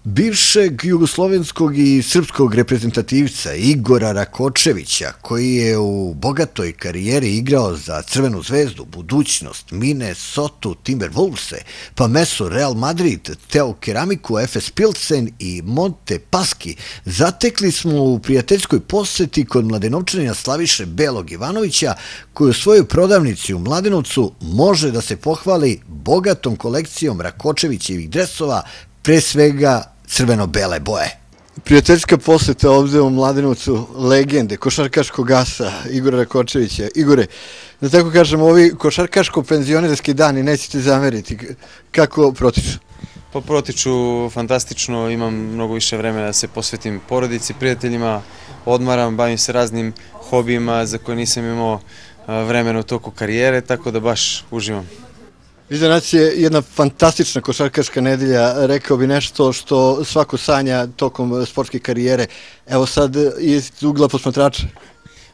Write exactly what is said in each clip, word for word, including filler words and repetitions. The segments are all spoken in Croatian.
Bivšeg jugoslovenskog i srpskog reprezentativca Igora Rakočevića, koji je u bogatoj karijeri igrao za Crvenu zvezdu, Budućnost, Minnesota Timberwolvese, pa Meso Real Madrid, Teo Keramiku, F S Pilsen i Monte Paschi, zatekli smo u prijateljskoj poseti kod Mladenovčanina Slaviše Belog Ivanovića, koji u svojoj prodavnici u Mladenovcu može da se pohvali bogatom kolekcijom Rakočevićevih dresova, pre svega crveno-bele boje. Prijateljska poseta ovde u Mladenovcu legende, košarkaškog asa Igora Rakočevića. Igore, da tako kažem, ovi košarkaško-penzionerski dani nećete zameriti. Kako protiču? Pa protiču fantastično, imam mnogo više vremena da se posvetim porodici, prijateljima, odmaram, bavim se raznim hobijima za koje nisam imao vremena u toku karijere, tako da baš uživam. Iza nas je jedna fantastična košarkaška nedelja, rekao bi nešto što svako sanja tokom sportske karijere. Evo sad iz ugla posmatrača.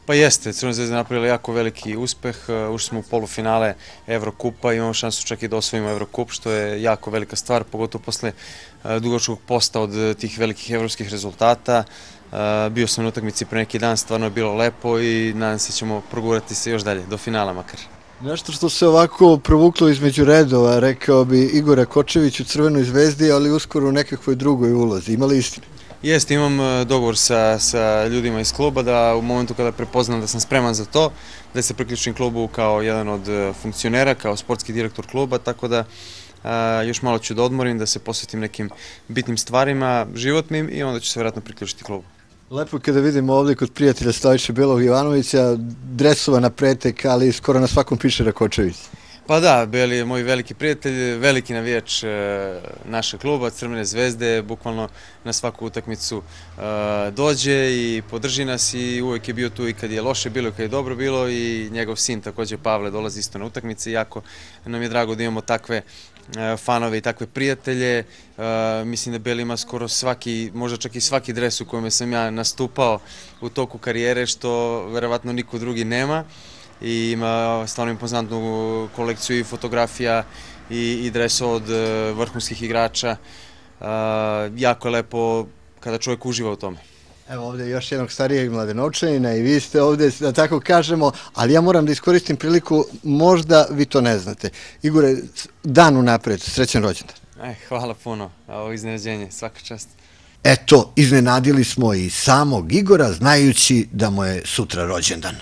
Pa jeste, Crvena zvezda je napravila jako veliki uspeh, ušli smo u polufinale Evrokupa, imamo šansu čak i da osvojimo Evrokup, što je jako velika stvar, pogotovo posle dugačkog posta od tih velikih evropskih rezultata. Bio sam na utakmici pre neki dan, stvarno je bilo lepo i nadam se ćemo progurati se još dalje, do finala makar. Nešto što se ovako provuklo između redova, rekao bi Igor Rakočević u Crvenoj zvezdi, ali uskoro u nekakvoj drugoj ulozi. Ima li istine? Jeste, imam dogovor sa, sa ljudima iz kluba da u momentu kada prepoznam da sam spreman za to, da se priključim klubu kao jedan od funkcionera, kao sportski direktor kluba, tako da a, još malo ću da odmorim, da se posvetim nekim bitnim stvarima, životnim i onda ću se vjerojatno priključiti klubu. Lepo je kada vidimo ovdje kod prijatelja Slaviše Belog Ivanovića, dresova na pretek, ali skoro na svakom piše Rakočević. Pa da, Beli je moj veliki prijatelj, veliki navijač našeg kluba, Crvene zvezde, bukvalno na svaku utakmicu dođe i podrži nas i uvijek je bio tu i kad je loše bilo i kad je dobro bilo i njegov sin također Pavle dolazi isto na utakmice i jako nam je drago da imamo takve fanove i takve prijatelje. Mislim da Beli ima skoro svaki, možda čak i svaki dres u kojem sam ja nastupao u toku karijere, što verovatno niko drugi nema. I ima stvarno impozantnu kolekciju i fotografija i, i dresova od vrhunskih igrača. Jako je lepo kada čovjek uživa u tome. Evo ovdje još jednog starijeg Mladenovčanina i vi ste ovdje, da tako kažemo, ali ja moram da iskoristim priliku, možda vi to ne znate. Igore, dan unapred, srećan rođendan. E, hvala puno, ovo iznenađenje, svaka čast. Eto, iznenadili smo i samog Igora, znajući da mu je sutra rođendan.